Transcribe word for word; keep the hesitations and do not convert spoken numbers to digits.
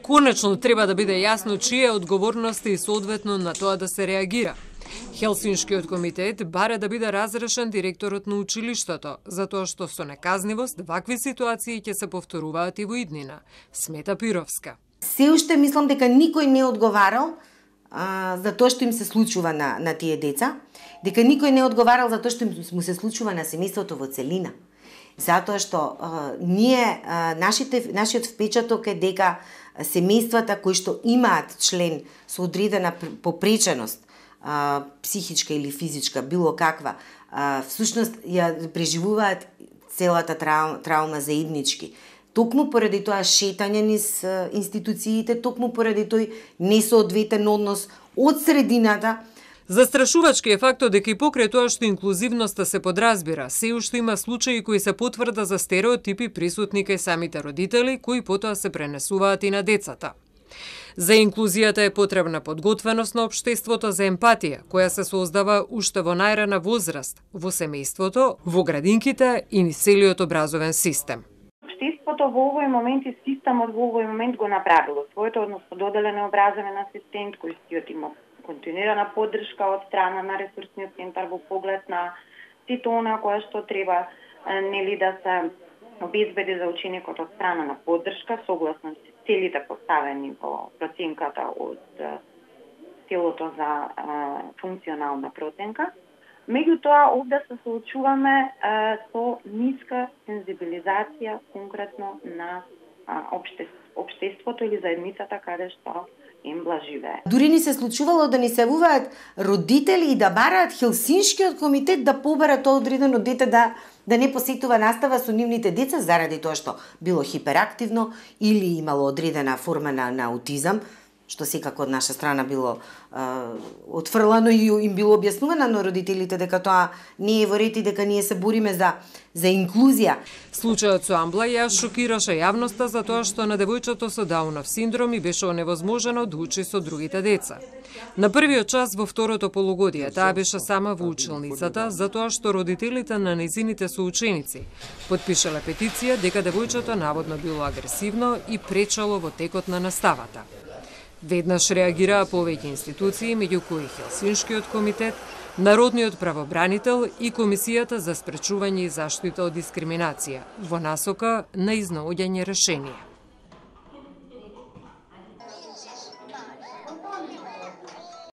Конечно треба да биде јасно чија е одговорноста и соодветно на тоа да се реагира. Хелсиншкиот комитет бара да биде разрешен директорот на училиштето, затоа што со неказнивост вакви ситуации ќе се повторуваат и во иднина, смета Пировска. Се уште мислам дека никој не одговарал а, за тоа што им се случува на, на тие деца, дека никој не одговарал за тоа што им му се случува на семејството во целина. Затоа што а, ние, а, нашите, нашиот впечаток е дека семејствата кои што имаат член со одредена попреченост, а, психичка или физичка, било каква, а, всушност ја преживуваат целата трау, траума заеднички. Токму поради тоа шетање низ институциите, токму поради тој несоодветен однос од средината. Застрашувачки е фактот дека и покрај тоа што инклузивноста се подразбира, се уште има случаи кои се потврда за стереотипи присутни кај самите родители, кои потоа се пренесуваат и на децата. За инклузијата е потребна подготвеност на општеството за емпатија, која се создава уште во најрана возраст, во семејството, во градинките и низ целиот образовен систем. Општеството во овој момент и системот во овој момент го направило своето, односно доделен образовен асистент кој си има континуирана поддршка од страна на ресурсниот центар во поглед на сите она која што треба нели да се обезбеди за ученикот од страна на поддршка согласно целите поставени во проценката од телото за а, функционална проценка. Меѓутоа, овде се соочуваме а, со ниска сензибилизација конкретно на а, обштеството, обштеството или заедницата каде што им блаживее. Дури ни се случувало да ни се јавуваат родители и да бараат Хелсиншкиот комитет да побара тоа одредено дете да да не посетува настава со нивните деца заради тоа што било хиперактивно или имало одредена форма на, на аутизам, што секако од наша страна било е, отфрлано и им било објаснувано на родителите дека тоа не е во ред и дека ние се бориме за за инклузија. Случајот со Амбла ја шокираше јавноста за тоа што на девојчето со Даунов синдром и беше оневозможено да учи со другите деца. На првиот час во второто полугодие таа беше сама во училницата затоа што родителите на нејзините соученици потпишале петиција дека девојчето наводно било агресивно и пречело во текот на наставата. Веднаш реагираа повеќе институции, меѓу кои Хелсиншкиот комитет, Народниот правобранител и Комисијата за спречување и заштита од дискриминација, во насока на изнаоѓање решение.